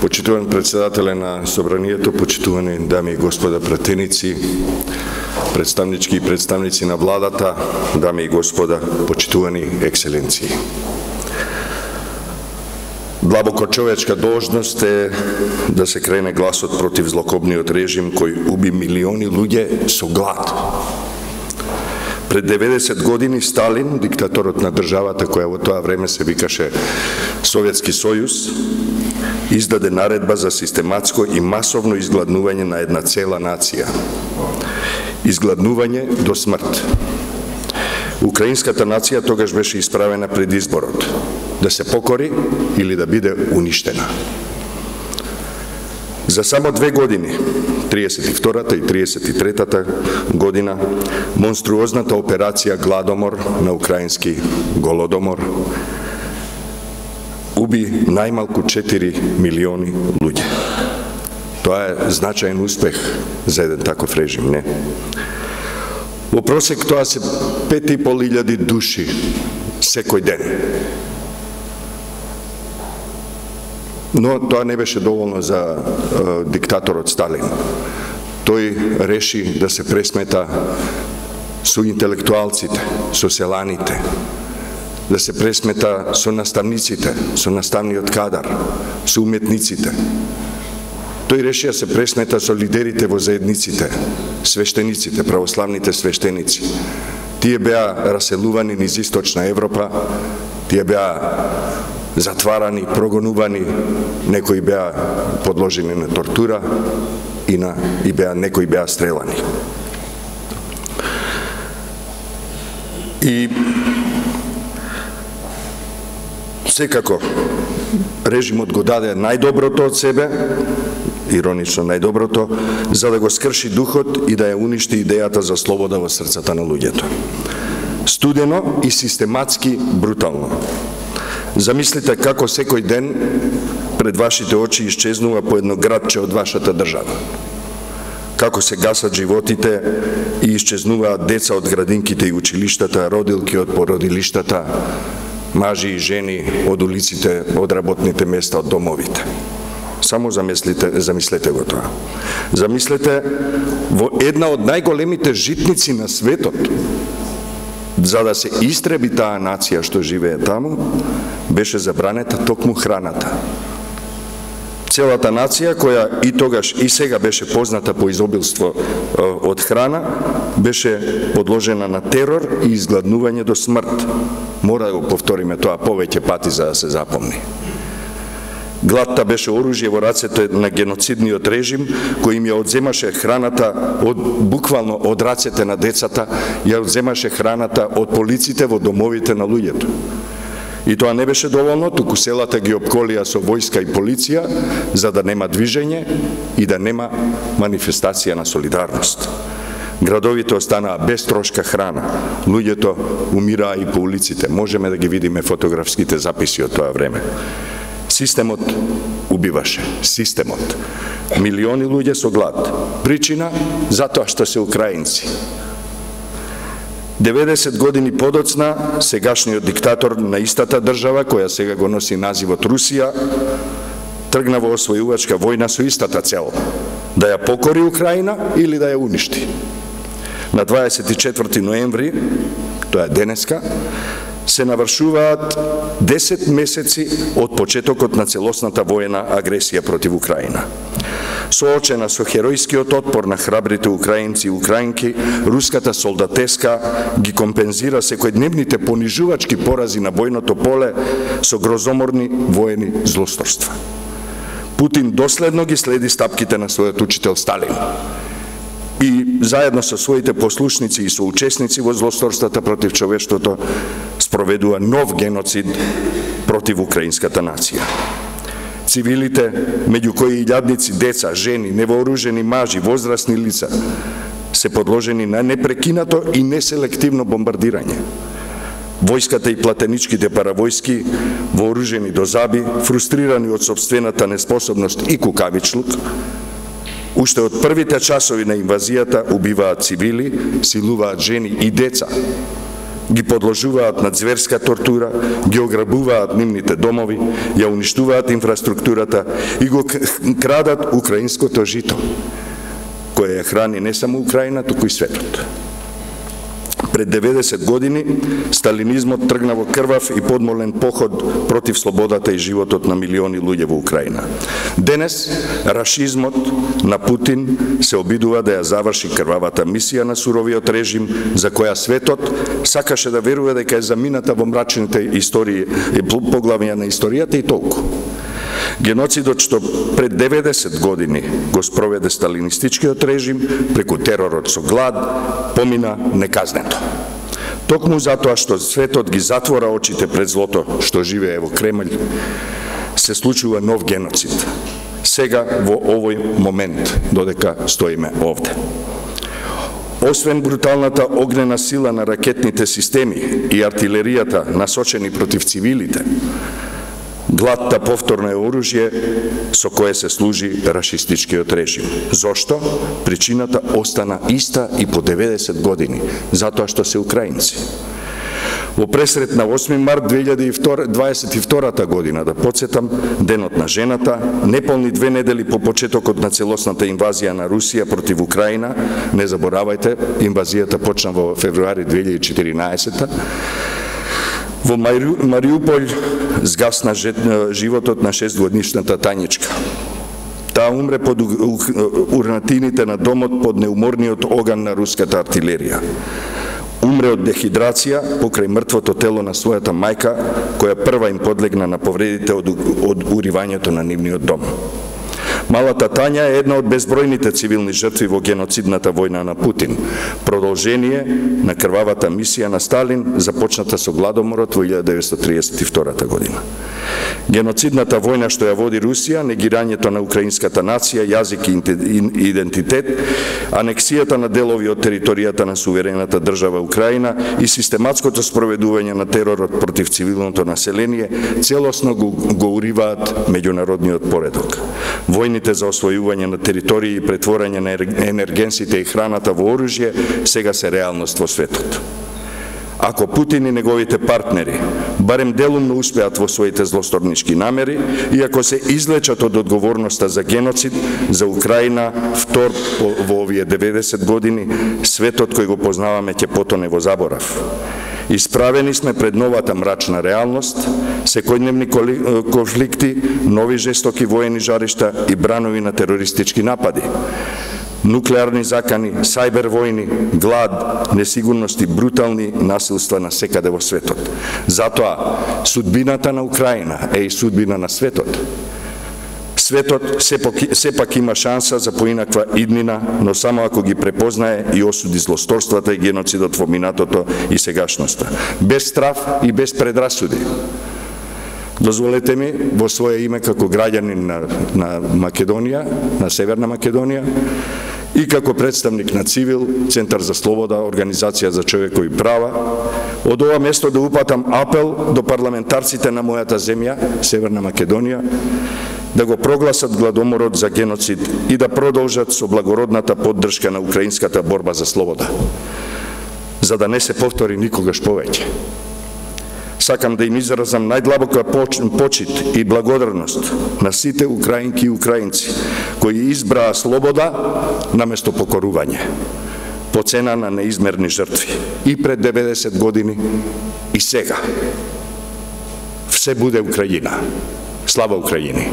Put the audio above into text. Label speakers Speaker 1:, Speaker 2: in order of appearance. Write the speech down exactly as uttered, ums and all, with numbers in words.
Speaker 1: Почитуван председателе на Собранието, почитувани дами и господа пратеници, представнички и представници на владата, дами и господа, почитувани екселенции. Длабоко човечка должност е да се крене гласот против злокобниот режим кој уби милиони луѓе со глад. Пред деветдесет години Сталин, диктаторот на државата која во тоа време се викаше Советски сојуз, издаде наредба за систематско и масовно изгладнување на една цела нација. Изгладнување до смрт. Украинската нација тогаш беше исправена пред изборот да се покори или да биде уништена. За само две години, триесет и втората и триесет и третата година, монструозната операција Гладомор на украински Голодомор уби најмалку четири милиони луѓе. Тоа е значаен успех за еден таков режим, не? Во просек тоа се пет и пол илјади души секој ден. Но тоа не беше доволно за е, диктаторот Сталин. Тој реши да се пресмета со интелектуалците, со селаните, да се пресмета со наставниците, со наставниот кадар, со уметниците. Тој реши да се пресмета со лидерите во заедниците, свештениците, православните свештеници. Тие беа раселувани низ Источна Европа, тие беа затварани, прогонувани, некои беа подложени на тортура и, на, и беа, некои беа стрелани. И секако режимот го даде најдоброто од себе, иронично најдоброто, за да го скрши духот и да ја уништи идејата за слобода во срцата на луѓето. Студено и систематски брутално. Замислите како секој ден пред вашите очи исчезнува по едно градче од вашата држава. Како се гасат животите и исчезнуваат деца од градинките и училиштата, родилки од породилиштата, мажи и жени од улиците, од работните места, од домовите. Само замислите, замислете го тоа. Замислете во една од најголемите житници на светот, за да се истреби таа нација што живее таму, беше забранета токму храната. Целата нација, која и тогаш и сега беше позната по изобилство од храна, беше подложена на терор и изгладнување до смрт. Мора да го повториме тоа повеќе пати за да се запомни. Гладта беше оружје во рацете на геноцидниот режим, кој им ја одземаше храната од, буквално од рацете на децата, ја одземаше храната од полиците во домовите на луѓето. И тоа не беше доволно, туку селата ги опколија со војска и полиција, за да нема движење и да нема манифестација на солидарност. Градовите останаа без трошка храна, луѓето умираа и по улиците. Можеме да ги видиме фотографските записи од тоа време. Системот убиваше, системот. Милиони луѓе со глад. Причина? Затоа што се украинци. деветдесет години подоцна, сегашниот диктатор на истата држава, која сега го носи називот Русија, тргна во освојувачка војна со истата цел, да ја покори Украина или да ја уништи. На дваесет и четврти ноември, тоа е денеска, се навршуваат десет месеци од почетокот на целосната војна агресија против Украина. Соочена со херојскиот отпор на храбрите украинци и украинки, руската солдатеска ги компензира секојдневните понижувачки порази на бојното поле со грозоморни воени злосторства. Путин доследно ги следи стапките на својот учител Сталин и заедно со своите послушници и соучесници во злосторствата против човештвото спроведува нов геноцид против украинската нација. Цивилите, меѓу кои илјадници деца, жени, невооружени мажи, возрастни лица, се подложени на непрекинато и неселективно бомбардирање. Војската и платеничките паравојски, вооружени до заби, фрустрирани од сопствената неспособност и кукавичлук, уште од првите часови на инвазијата убиваат цивили, силуваат жени и деца, ги подложуваат на зверска тортура, ги ограбуваат нивните домови, ја уништуваат инфраструктурата и го крадат украинското жито, кое ја храни не само Украина, туку и светот. Пред деветдесет години сталинизмот тргна во крвав и подмолен поход против слободата и животот на милиони луѓе во Украина. Денес рашизмот на Путин се обидува да ја заврши крвавата мисија на суровиот режим, за која светот сакаше да верува дека е замината во мрачните истории и поглавја на историјата и толку. Геноцидот што пред деветдесет години го спроведе сталинистичкиот режим преку теророт со глад помина неказнето. Токму затоа што светот ги затвора очите пред злото што живее во Кремљ, се случува нов геноцид. Сега во овој момент додека стоиме овде. Освен бруталната огнена сила на ракетните системи и артилеријата насочени против цивилите, гладта повторно е оружје со кое се служи рашистичкиот режим. Зошто? Причината остана иста и по деветдесет години, затоа што се украинци. Во пресрет на осми март две илјади дваесет и втора година, да подсетам, денот на жената, неполни две недели по почетокот на целосната инвазија на Русија против Украина, не заборавајте, инвазијата почна во февруари две илјади и четиринаесета, во Мариуполј згасна животот на шестгодишната Тањичка. Таа умре под урнатините на домот под неуморниот оган на руската артилерија. Умре од дехидрација покрај мртвото тело на својата мајка, која прва им подлегна на повредите од, од уривањето на нивниот дом. Малата Тања е една од безбројните цивилни жртви во геноцидната војна на Путин, продолжение на крвавата мисија на Сталин, започната со гладоморот во илјада деветстотини триесет и втора година. Геноцидната војна што ја води Русија, негирањето на украинската нација, јазик и идентитет, анексијата на делови од територијата на суверената држава Украина и систематското спроведување на теророт против цивилното население, целосно го, го уриваат меѓународниот поредок. Војните за освојување на територии и претворање на енергенсите и храната во оружје сега се реалност во светот. Ако Путин и неговите партнери барем делумно успеат во своите злосторнички намери и ако се излечат од одговорноста за геноцид за Украина, втор во овие деветдесет години, светот кој го познаваме ќе потоне во заборав. Исправени сме пред новата мрачна реалност, секојдневни конфликти, нови жестоки воени жаришта и бранови на терористички напади. Нуклеарни закани, сајбер војни, глад, несигурност и брутални насилства на секаде во светот. Затоа, судбината на Украина е и судбина на светот. Светот сепак, сепак има шанса за поинаква иднина, но само ако ги препознае и осуди злосторствата и геноцидот во минатото и сегашноста. Без страв и без предрасуди. Дозволете ми, во своје име како граѓанин на, на Македонија, на Северна Македонија, и како представник на Цивил, Центар за слобода, Организација за човекови права, од ова место да упатам апел до парламентарците на мојата земја, Северна Македонија, да го прогласат гладоморот за геноцид и да продолжат со благородната поддршка на украинската борба за слобода, за да не се повтори никогаш повеќе. Сакам да им изразам најдлабока почит и благодарност на сите украинки и украинци кои избраа слобода наместо покорување, по цена на неизмерни жртви, и пред деветдесет години и сега. Все буде Украина. Слава Украини!